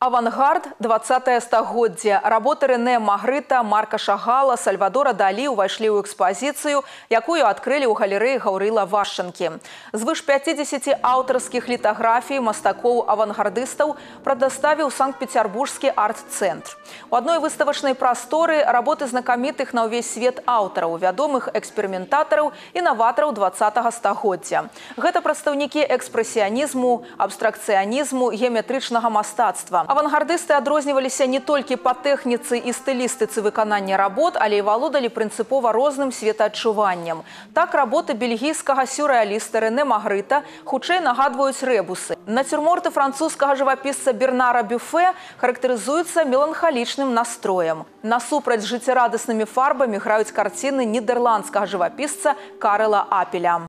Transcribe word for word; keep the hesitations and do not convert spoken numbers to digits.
Авангард двадцатае стагоддзе. Работы Рэне Магрыта, Марка Шагала, Сальвадора Далі ўвайшлі ў экспазіцыю, якую адкрылі ў галерэі Гаўрыла Вашчанкі. Звыш пяцідзесяці аўтарскіх літаграфій мастакоў-авангардыстаў прадаставіў Санкт-Петербургскі арт-цэнтр. У адной выставачнай прасторы работы знакамітых на ўвесь свет аўтараў, вядомых эксперыментатараў і наватараў двадцатага стагоддзя. Гэта прадстаўнікі экспрэсіянізму, абстракцыянізму, геаметрычнага мастацтва. Авангардысты адрозніваліся не толькі па тэхніцы і стылістыцы выканання работ, але і валодалі прынцыпова розным светаадчуваннем. Так, работы бельгійскага сюррэаліста Рэне Магрыта хутчэй нагадваюць рэбусы. Нацюрморты французскага жывапісца Бернара Бюфе характарызуюцца меланхалічным настроем. Насупраць жыццярадаснымі фарбамі граюць карціны нідэрландскага жывапісца Карэла Апеля.